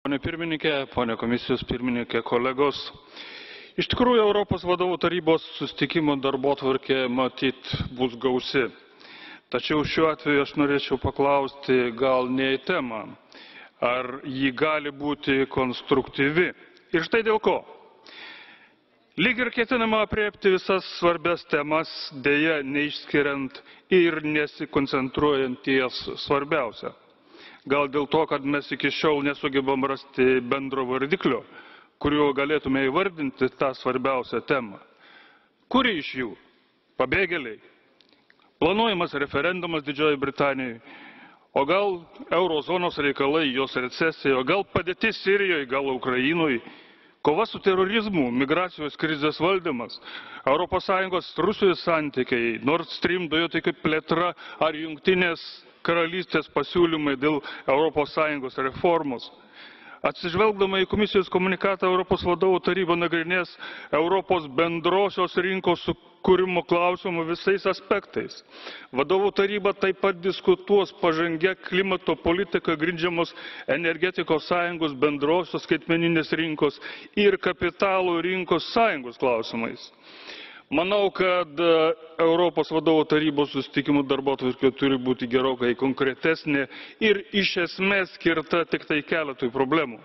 Pone pirmininkė, pone komisijos pirmininkė, kolegos. Iš tikrųjų, Europos vadovų tarybos susitikimo darbotvarkė matyt bus gausi. Tačiau šiuo atveju aš norėčiau paklausti gal ne į temą, ar ji gali būti konstruktyvi. Ir štai dėl ko. Lyg ir ketinama apriepti visas svarbias temas, dėja neišskiriant ir nesikoncentruojant ties svarbiausia. Gal dėl to, kad mes iki šiol nesugebam rasti bendro vardiklio, kuriuo galėtume įvardinti tą svarbiausią temą. Kuri iš jų? Pabėgėliai? Planuojamas referendumas Didžiojoje Britanijoje? O gal eurozonos reikalai, jos recesija? O gal padėtis Sirijoje, gal Ukrainoje? Kova su terorizmu, migracijos krizės valdymas, ES Rusijos santykiai, Nord Stream dujotiekio plėtra ar Jungtinės karalystės pasiūlymai dėl ES reformos. Atsižvelgdama į komisijos komunikatą, Europos vadovų taryba nagrinės Europos bendrosios rinkos sukūrimo klausimų visais aspektais. Vadovų taryba taip pat diskutuos pažangę klimato politiką grindžiamos energetikos sąjungos, bendrosios skaitmeninės rinkos ir kapitalo rinkos sąjungos klausimais. Manau, kad Europos vadovų tarybos susitikimų darbotvarkė turi būti gerokai konkretesnė ir iš esmės skirta tik tai keletui problemų.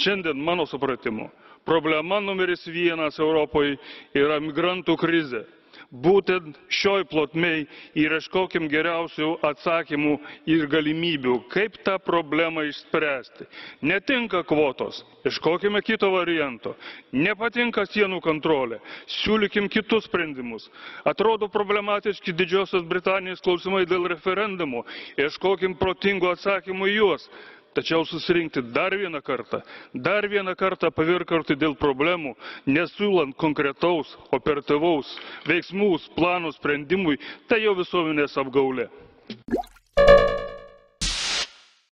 Šiandien, mano supratimu, problema numeris 1 Europoje yra migrantų krizė. Būtent šioj plotmei ieškokim geriausių atsakymų ir galimybių, kaip tą problemą išspręsti. Netinka kvotos, ieškokime kito varianto. Nepatinka sienų kontrolė, siūlykim kitus sprendimus. Atrodo problematiški Didžiosios Britanijos klausimai dėl referendumo, ieškokim protingų atsakymų į juos. Tačiau susirinkti dar vieną kartą pavirkarti dėl problemų, nesiūlant konkretaus, operatyvaus veiksmų, planų sprendimui, tai jau visuomenės apgaulė.